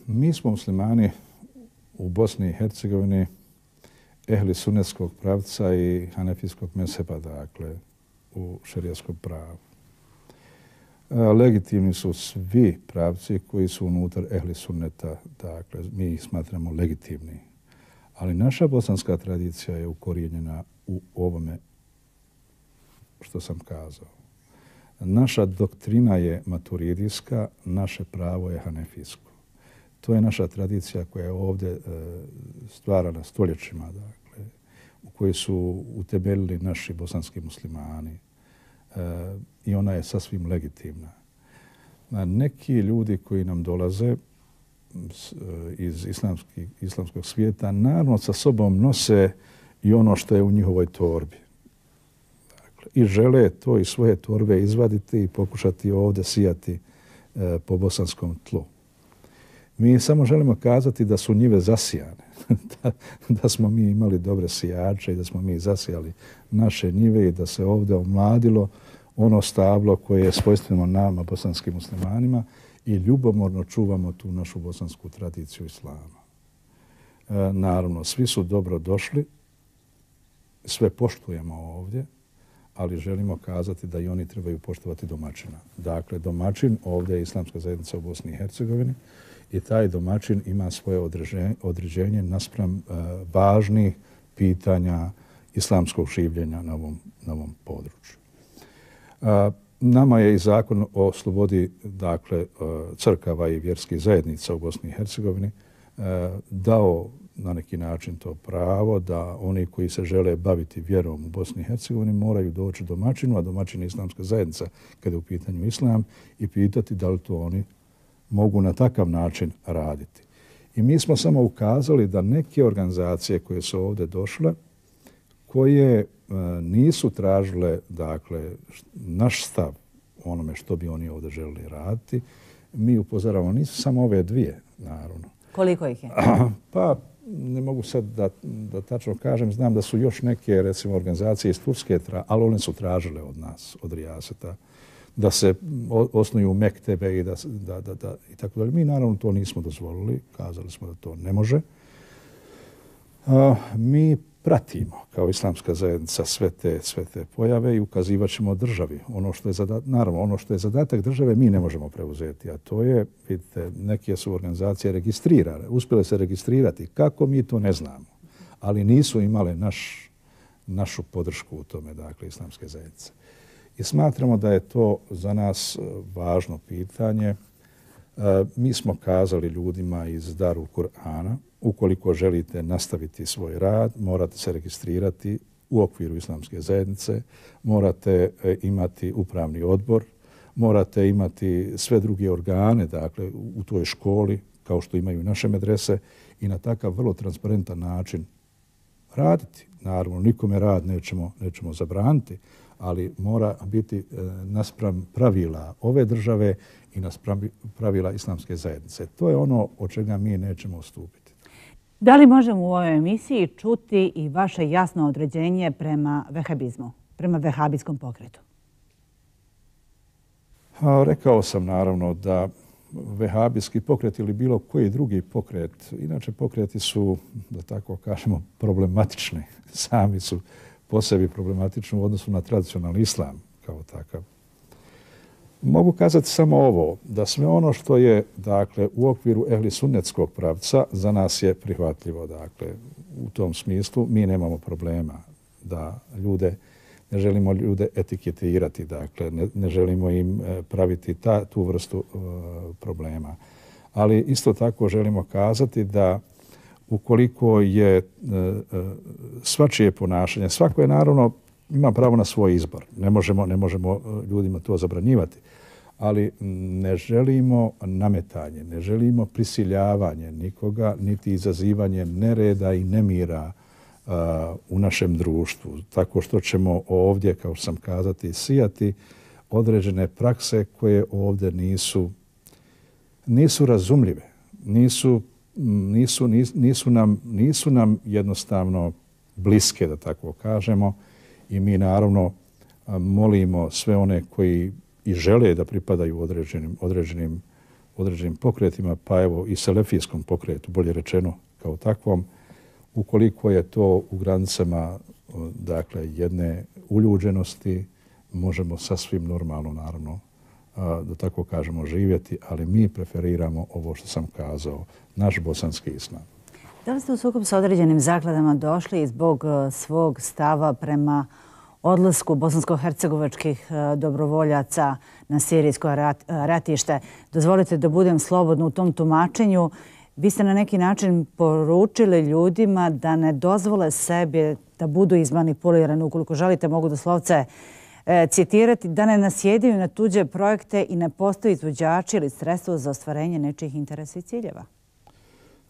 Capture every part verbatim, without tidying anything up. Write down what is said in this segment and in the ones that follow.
Mi smo muslimani u Bosni i Hercegovini ehli sunetskog pravca i hanefijskog mezheba, dakle, u šerijskom pravu. Legitimni su svi pravci koji su unutar ehli sunneta, dakle, mi ih smatramo legitimni. Ali naša bosanska tradicija je ukorijenjena u ovome što sam kazao. Naša doktrina je maturidijska, naše pravo je hanefijsko. To je naša tradicija koja je ovdje e, stvarana stoljećima, dakle, u kojoj su utemeljili naši bosanski muslimani. E, I ona je sasvim legitimna. A neki ljudi koji nam dolaze iz islamski, islamskog svijeta naravno sa sobom nose i ono što je u njihovoj torbi. Dakle, i žele to iz svoje torbe izvaditi i pokušati ovdje sijati e, po bosanskom tlu. Mi samo želimo kazati da su njive zasijane, da, da smo mi imali dobre sijače i da smo mi zasijali naše njive i da se ovdje omladilo ono stablo koje je svojstveno nama, bosanskim muslimanima, i ljubomorno čuvamo tu našu bosansku tradiciju islama. E, naravno, svi su dobro došli, sve poštujemo ovdje, ali želimo kazati da i oni trebaju poštovati domaćina. Dakle, domaćin ovdje je islamska zajednica u Bosni i Hercegovini i taj domaćin ima svoje određenje, određenje naspram e, važnih pitanja islamskog življenja na ovom, na ovom području. E, Nama je i zakon o slobodi, dakle, crkava i vjerskih zajednica u Bosni i Hercegovini dao na neki način to pravo da oni koji se žele baviti vjerom u Bosni i Hercegovini moraju doći domaćinu, a domaćin je islamska zajednica kada je u pitanju islam, i pitati da li to oni mogu na takav način raditi. I mi smo samo ukazali da neke organizacije koje su ovdje došle, koje nisu tražile, dakle, naš stav o onome što bi oni ovdje želeli raditi, mi upozoravamo. Nisu samo ove dvije, naravno. Koliko ih je? Pa, ne mogu sad da, da tačno kažem. Znam da su još neke, recimo, organizacije iz Turske, ali one su tražile od nas, od Rijaseta, da se osnuju mektebe i da, da, da, da i tako dalje. Mi, naravno, to nismo dozvolili. Kazali smo da to ne može. A, mi pratimo kao islamska zajednica sve te, sve te pojave i ukazivat ćemo državi. Ono što je zadat, naravno, ono što je zadatak države mi ne možemo preuzeti, a to je, vidite, neke su organizacije registrirane, uspjele se registrirati. Kako mi to ne znamo, ali nisu imale naš, našu podršku u tome, dakle, islamske zajednice. I smatramo da je to za nas važno pitanje. Mi smo kazali ljudima iz Darul Kur'ana, ukoliko želite nastaviti svoj rad, morate se registrirati u okviru islamske zajednice, morate imati upravni odbor, morate imati sve druge organe, dakle, u toj školi, kao što imaju naše medrese, i na takav vrlo transparentan način raditi. Naravno, nikome rad nećemo, nećemo zabraniti, ali mora biti naspram pravila ove države i naspram pravila islamske zajednice. To je ono od čega mi nećemo ustupiti. Da li možemo u ovoj emisiji čuti i vaše jasno određenje prema vehabizmu, prema vehabijskom pokretu? A, rekao sam naravno da vehabijski pokret ili bilo koji drugi pokret, inače pokreti su, da tako kažemo, problematični. Sami su po sebi problematični u odnosu na tradicionalni islam kao takav. Mogu kazati samo ovo, da sve ono što je, dakle, u okviru ehli sunnetskog pravca za nas je prihvatljivo. Dakle, u tom smislu mi nemamo problema da ljude, ne želimo ljude etiketirati, dakle, ne, ne želimo im praviti ta, tu vrstu uh, problema. Ali isto tako želimo kazati da ukoliko je uh, uh, svačije ponašanje, svako je naravno ima pravo na svoj izbor. Ne možemo, ne možemo ljudima to zabranjivati. Ali ne želimo nametanje, ne želimo prisiljavanje nikoga, niti izazivanje nereda i nemira uh, u našem društvu. Tako što ćemo ovdje, kao sam kazati, sijati određene prakse koje ovdje nisu, nisu razumljive. Nisu, nisu, nisu, nam, nisu nam jednostavno bliske, da tako kažemo. I mi naravno molimo sve one koji i žele da pripadaju određenim, određenim određenim pokretima, pa evo i selefijskom pokretu, bolje rečeno kao takvom, ukoliko je to u granicama dakle, jedne uljuđenosti, možemo sasvim normalno, naravno, da tako kažemo, živjeti, ali mi preferiramo ovo što sam kazao, naš bosanski islam. Da li ste u sukob sa određenim zakladama došli zbog svog stava prema odlasku bosansko-hercegovačkih dobrovoljaca na sirijsko ratište? Dozvolite da budem slobodna u tom tumačenju. Vi ste na neki način poručili ljudima da ne dozvole sebi da budu izmanipulirani. Ukoliko želite, mogu doslovce citirati, da ne nasjedaju na tuđe projekte i ne postoji izvođači ili sredstvo za ostvarenje nečijih interesa i ciljeva.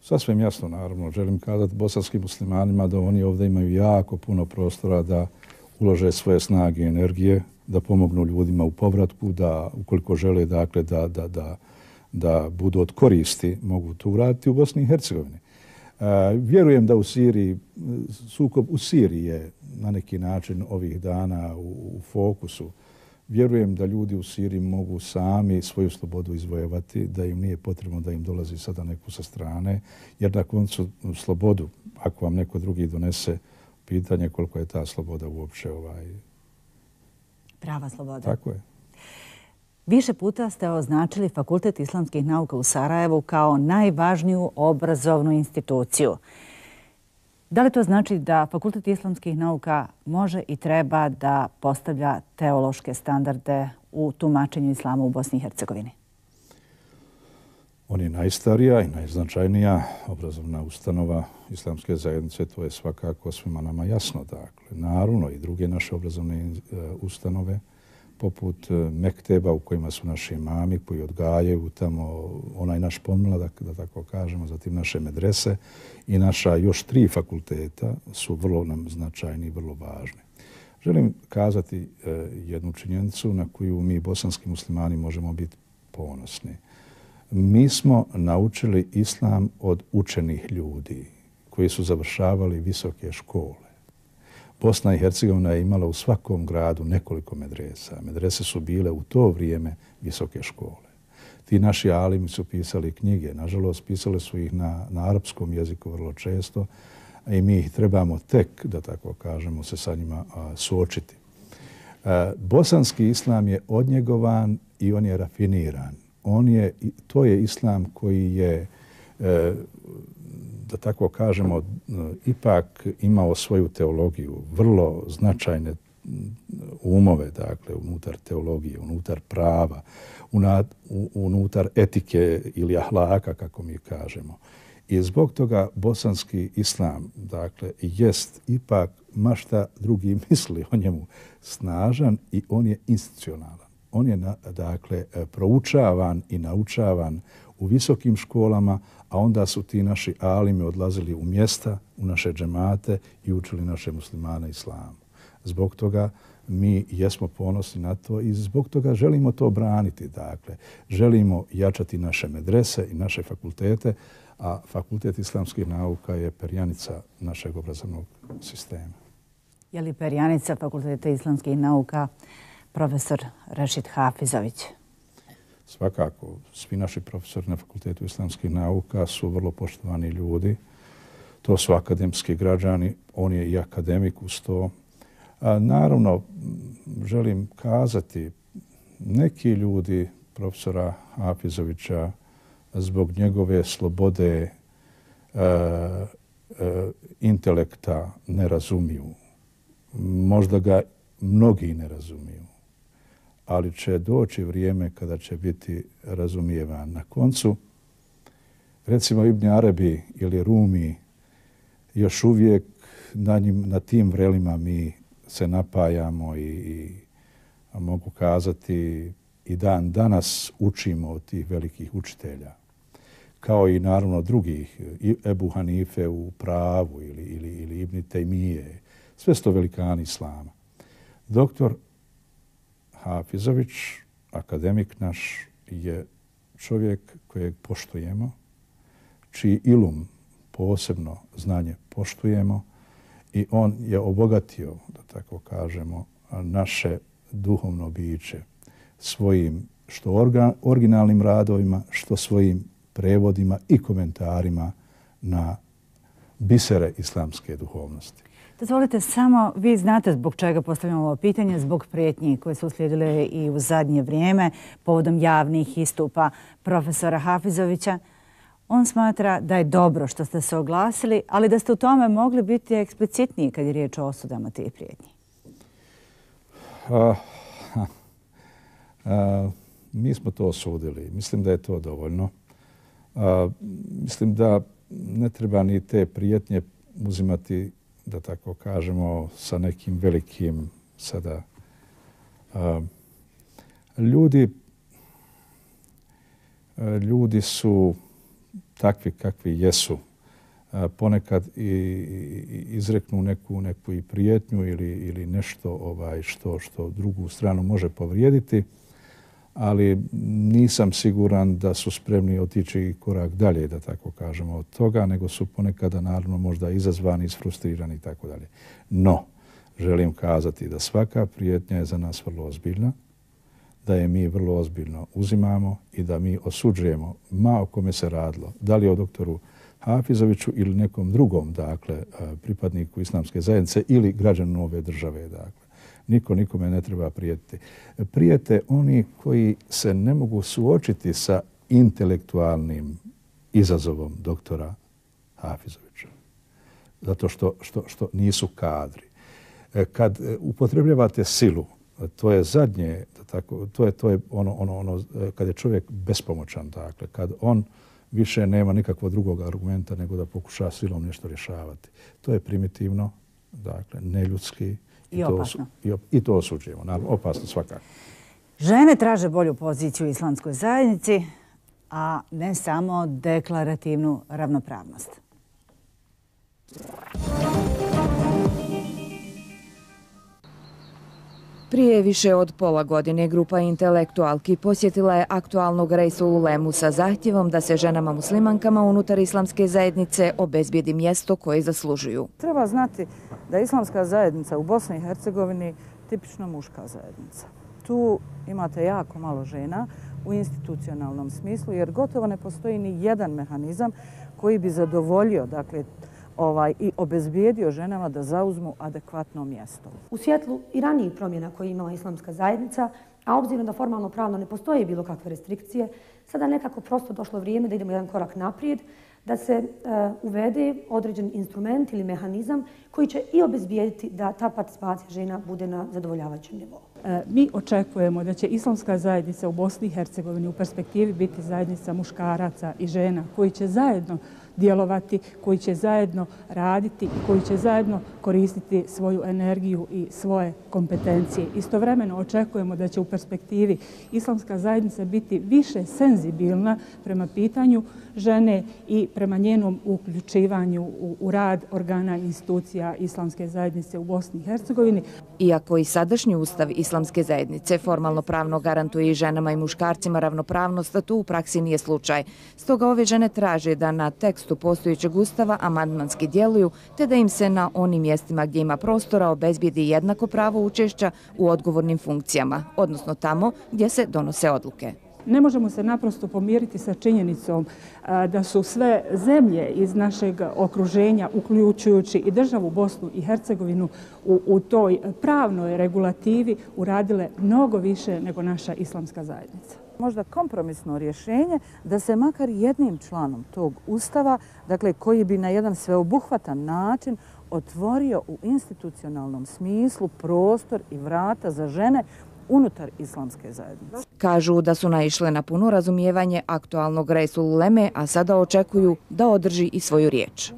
Sasvim jasno, naravno. Želim kazati bosanskim muslimanima da oni ovdje imaju jako puno prostora da ulože svoje snage i energije, da pomognu ljudima u povratku, da ukoliko žele dakle, da, da, da, da budu od koristi, mogu to uraditi u Bosni i Hercegovini. Uh, vjerujem da u Siriji, sukob u Siriji je na neki način ovih dana u, u fokusu. Vjerujem da ljudi u Siriji mogu sami svoju slobodu izvojevati, da im nije potrebno da im dolazi sada neko sa strane, jer na koncu slobodu, ako vam neko drugi donese, pitanje koliko je ta sloboda uopće ovaj... Prava sloboda. Tako je. Više puta ste označili Fakultet islamskih nauka u Sarajevu kao najvažniju obrazovnu instituciju. Da li to znači da Fakultet islamskih nauka može i treba da postavlja teološke standarde u tumačenju islama u Bosni i Hercegovini? On je najstarija i najznačajnija obrazovna ustanova islamske zajednice, to je svakako svima nama jasno. Dakle, naravno i druge naše obrazovne ustanove, poput mekteba u kojima su naši imami koji odgajaju tamo onaj naš pomladak, da tako kažemo, zatim naše medrese i naša još tri fakulteta su vrlo nam značajni i vrlo važni. Želim kazati jednu činjenicu na koju mi bosanski muslimani možemo biti ponosni. Mi smo naučili islam od učenih ljudi koji su završavali visoke škole. Bosna i Hercegovina je imala u svakom gradu nekoliko medresa. Medrese su bile u to vrijeme visoke škole. Ti naši alimi su pisali knjige. Nažalost, pisali su ih na, na arapskom jeziku vrlo često i mi ih trebamo tek, da tako kažemo, se sa njima a, suočiti. A, bosanski islam je odnjegovan i on je rafiniran. On je, to je islam koji je, e, da tako kažemo, ipak imao svoju teologiju, vrlo značajne umove, dakle, unutar teologije, unutar prava, unutar etike ili ahlaka, kako mi kažemo. I zbog toga bosanski islam, dakle, jest ipak, ma šta drugi misli o njemu, snažan i on je institucionalan. On je, dakle, proučavan i naučavan u visokim školama, a onda su ti naši alimi odlazili u mjesta, u naše džemate i učili naše muslimane islamu. Zbog toga mi jesmo ponosni na to i zbog toga želimo to braniti. Dakle, želimo jačati naše medrese i naše fakultete, a Fakultet islamskih nauka je perjanica našeg obrazovnog sistema. Je li perjanica Fakulteta islamskih nauka profesor Rešid Hafizović? Svakako, svi naši profesori na Fakultetu islamskih nauka su vrlo poštovani ljudi. To su akademski građani, on je i akademik uz to. A, naravno, želim kazati, neki ljudi profesora Hafizovića zbog njegove slobode e, e, intelekta ne razumiju. Možda ga mnogi ne razumiju. Ali će doći vrijeme kada će biti razumijevan. Na koncu, recimo Ibn Arabi ili Rumi, još uvijek na, njim, na tim vrelima mi se napajamo i, i a mogu kazati i dan danas učimo od tih velikih učitelja. Kao i naravno drugih, i Ebu Hanife u pravu ili, ili, ili Ibn Tejmije, sve sto velikani islama. Doktor Hafizović, akademik naš, je čovjek kojeg poštujemo, čiji ilum, posebno znanje, poštujemo i on je obogatio, da tako kažemo, naše duhovno biće svojim što organ, originalnim radovima, što svojim prevodima i komentarima na bisere islamske duhovnosti. Dozvolite samo, vi znate zbog čega postavljamo ovo pitanje, zbog prijetnji koje su uslijedile i u zadnje vrijeme povodom javnih istupa profesora Hafizovića. On smatra da je dobro što ste se oglasili, ali da ste u tome mogli biti eksplicitniji kad je riječ o osudama tih prijetnji. A, a, mi smo to osudili. Mislim da je to dovoljno. A, mislim da ne treba ni te prijetnje uzimati, da tako kažemo, sa nekim velikim sada. A, ljudi, ljudi su takvi kakvi jesu. A, ponekad i, i izreknu neku, neku i prijetnju ili, ili nešto ovaj, što, što drugu stranu može povrijediti, ali nisam siguran da su spremni otići korak dalje, da tako kažemo, od toga, nego su ponekada naravno možda izazvani, isfrustrirani i tako dalje. No, želim kazati da svaka prijetnja je za nas vrlo ozbiljna, da je mi vrlo ozbiljno uzimamo i da mi osuđujemo, ma o kome se radilo, da li o doktoru Hafizoviću ili nekom drugom, dakle, pripadniku islamske zajednice ili građanu ove države, dakle. Niko nikome ne treba prijetiti. Prijete oni koji se ne mogu suočiti sa intelektualnim izazovom doktora Hafizovića. Zato što, što, što nisu kadri. Kad upotrebljavate silu, to je zadnje, tako, to je, to je ono, ono, ono, kad je čovjek bespomoćan, dakle, kad on više nema nikakvog drugog argumenta nego da pokuša silom nešto rješavati. To je primitivno, dakle, neljudski, I opasno. I, to, i to osuđujemo. Naravno, opasno svakako. Žene traže bolju poziciju u islamskoj zajednici, a ne samo deklarativnu ravnopravnost. Prije više od pola godine grupa intelektualki posjetila je aktualnog Reisul Ulemu sa zahtjevom da se ženama muslimankama unutar islamske zajednice obezbijedi mjesto koje zaslužuju. Treba znati da je islamska zajednica u Bosni i Hercegovini tipično muška zajednica. Tu imate jako malo žena u institucionalnom smislu, jer gotovo ne postoji ni jedan mehanizam koji bi zadovoljio, dakle, ovaj, i obezbijedio ženama da zauzmu adekvatno mjesto. U svjetlu i ranijih promjena koje je imala islamska zajednica, a obzirom da formalno pravno ne postoje bilo kakve restrikcije, sada nekako prosto došlo vrijeme da idemo jedan korak naprijed, da se uh, uvede određen instrument ili mehanizam koji će i obezbijediti da ta participacija žena bude na zadovoljavajućem nivou. E, mi očekujemo da će islamska zajednica u Bosni i Hercegovini u perspektivi biti zajednica muškaraca i žena koji će zajedno djelovati, koji će zajedno raditi i koji će zajedno koristiti svoju energiju i svoje kompetencije. Istovremeno očekujemo da će u perspektivi islamska zajednica biti više senzibilna prema pitanju žene i prema njenom uključivanju u, u rad organa i institucija islamske zajednice u Bosni i Hercegovini. Iako i sadašnji ustav islamske zajednice formalno pravno garantuje i ženama i muškarcima ravnopravnost, to u praksi nije slučaj. Stoga ove žene traže da na tekstu postojećeg ustava amandmanski djeluju, te da im se na onim mjestima gdje ima prostora obezbijedi jednako pravo učešća u odgovornim funkcijama, odnosno tamo gdje se donose odluke. Ne možemo se naprosto pomiriti sa činjenicom da su sve zemlje iz našeg okruženja, uključujući i državu Bosnu i Hercegovinu, u, u toj pravnoj regulativi uradile mnogo više nego naša islamska zajednica. Možda kompromisno rješenje da se makar jednim članom tog ustava, dakle koji bi na jedan sveobuhvatan način otvorio u institucionalnom smislu prostor i vrata za žene unutar islamske zajednice. Kažu da su naišle na puno razumijevanje aktualnog Reisul Uleme, a sada očekuju da održi i svoju riječ.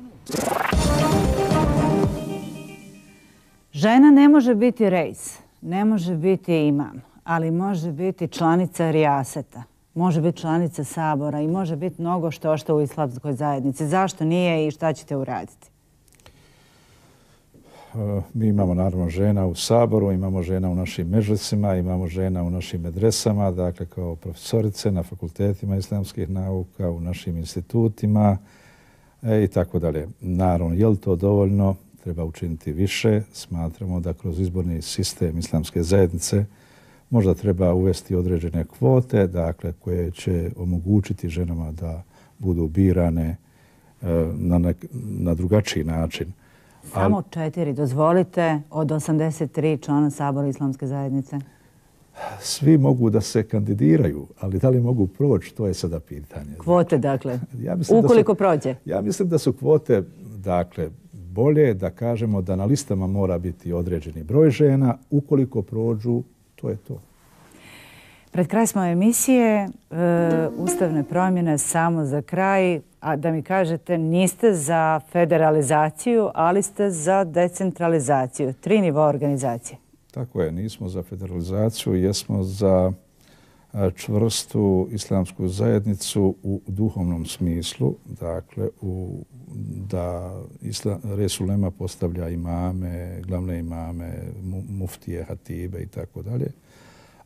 Žena ne može biti reis, ne može biti imam, ali može biti članica rijaseta, može biti članica sabora i može biti mnogo što što u islamskoj zajednici. Zašto nije i šta ćete uraditi? Mi imamo naravno žena u saboru, imamo žena u našim međlisima, imamo žena u našim medresama, dakle kao profesorice na fakultetima islamskih nauka, u našim institutima e, i tako dalje. Naravno, je li to dovoljno? Treba učiniti više. Smatramo da kroz izborni sistem islamske zajednice Možda treba uvesti određene kvote, dakle, koje će omogućiti ženama da budu birane na, nek, na drugačiji način. Samo Ali, četiri, dozvolite, od osamdeset tri člana Sabora Islamske zajednice? Svi mogu da se kandidiraju, ali da li mogu proći, to je sada pitanje. Kvote, dakle, ja ukoliko su, prođe? Ja mislim da su kvote, dakle, bolje da kažemo da na listama mora biti određeni broj žena, ukoliko prođu, to je to. Pred kraj smo emisije, e, ustavne promjene samo za kraj, a da mi kažete niste za federalizaciju, ali ste za decentralizaciju, tri nivoa organizacije. Tako je, nismo za federalizaciju, jesmo za čvrstu islamsku zajednicu u duhovnom smislu, dakle u, da islam, Resulema postavlja imame, glavne imame, muftije, hatibe i tako dalje,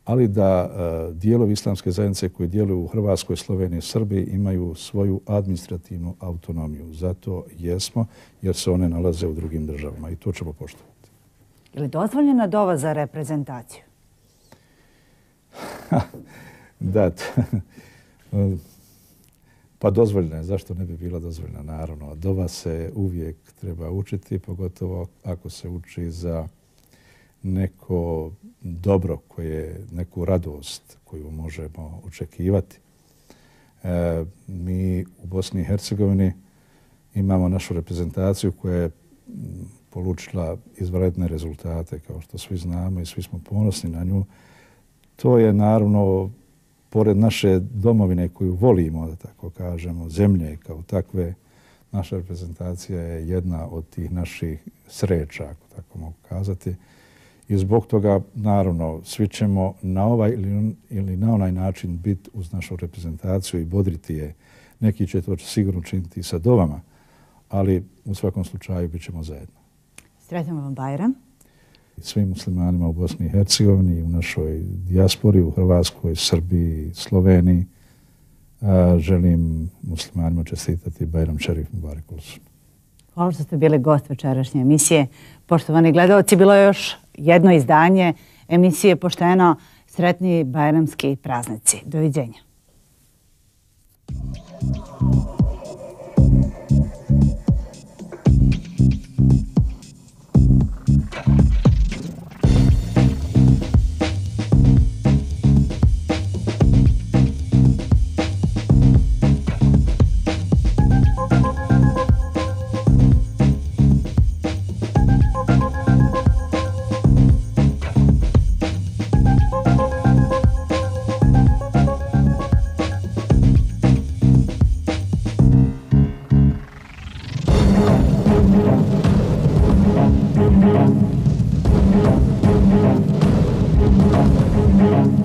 ali da uh, dijelovi islamske zajednice koji djeluju u Hrvatskoj, Sloveniji i Srbiji imaju svoju administrativnu autonomiju. Zato jesmo, jer se one nalaze u drugim državama i to ćemo poštovati. Je li dozvoljena dova za reprezentaciju? Da, pa dozvoljena je. Zašto ne bi bila dozvoljena? Naravno, dova se uvijek treba učiti, pogotovo ako se uči za neko dobro koje, neku radost koju možemo očekivati. E, mi u Bosni i Hercegovini imamo našu reprezentaciju koja je polučila izvanredne rezultate, kao što svi znamo i svi smo ponosni na nju. To je naravno, pored naše domovine koju volimo, da tako kažemo, zemlje kao takve, naša reprezentacija je jedna od tih naših sreća, ako tako mogu kazati. I zbog toga, naravno, svi ćemo na ovaj ili, ili na onaj način biti uz našu reprezentaciju i bodriti je. Neki će to sigurno činiti sa dovama, ali u svakom slučaju bit ćemo zajedno. Sretno vam Bajram. Svim muslimanima u Bosni i Hercegovini, u našoj dijaspori, u Hrvatskoj, Srbiji, Sloveniji, a, želim muslimanima čestitati Bajram Šerif Mubarek Olsun. Hvala što ste bili gost večerašnje emisije. Poštovani gledalci, bilo je još jedno izdanje emisije Pošteno. Sretni bajramski praznici. Doviđenja. Thank you.